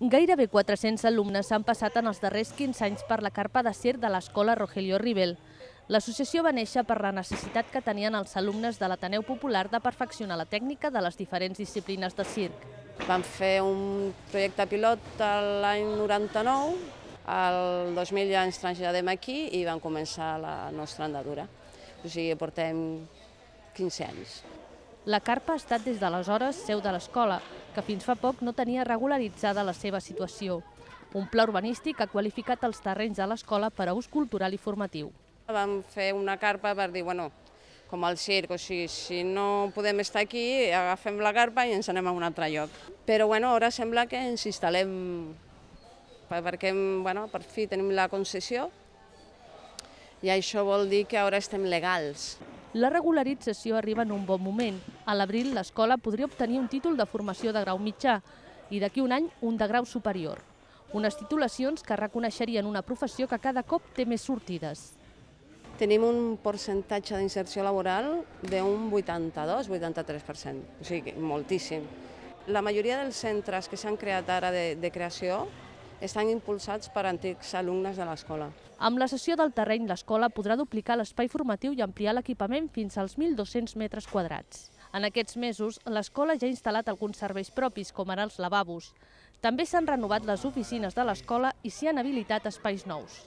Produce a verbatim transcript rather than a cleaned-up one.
Gairebé quatre-cents alumnes s'han passat en els darrers quinze anys per la carpa de circ de l'escola Rogelio Rivel. L'associació va néixer per la necessitat que tenien els alumnes de l'Ateneu Popular de perfeccionar la tècnica de les diferents disciplines de circ. Vam fer un projecte pilot l'any noranta-nou, el dos mil ja ens traslladem aquí i vam començar la nostra andadura. O sigui, portem quinze anys. La carpa ha estat des d'aleshores seu de l'escola, que fins fa poc no tenia regularitzada la seva situació. Un pla urbanístic ha qualificat els terrenys de l'escola per a ús cultural i formatiu. Vam fer una carpa per dir, bueno, com el circ, o sigui, si no podem estar aquí, agafem la carpa i ens anem a un altre lloc. Però bueno, ara sembla que ens instal·lem, perquè bueno, per fi tenim la concessió i això vol dir que ara estem legals. La regularització arriba en un bon moment. A l'abril l'escola podria obtenir un títol de formació de grau mitjà i d'aquí un any un de grau superior. Unes titulacions que reconeixerien una professió que cada cop té més sortides. Tenim un percentatge d'inserció laboral d'un vuitanta-dos a vuitanta-tres per cent, o sigui, moltíssim. La majoria dels centres que s'han creat ara de, de creació estan impulsats per antics alumnes de l'escola. Amb la cessió del terreny, l'escola podrà duplicar l'espai formatiu i ampliar l'equipament fins als mil dos-cents metres quadrats. En aquests mesos, l'escola ja ha instal·lat alguns serveis propis, com ara els lavabos. També s'han renovat les oficines de l'escola i s'hi han habilitat espais nous.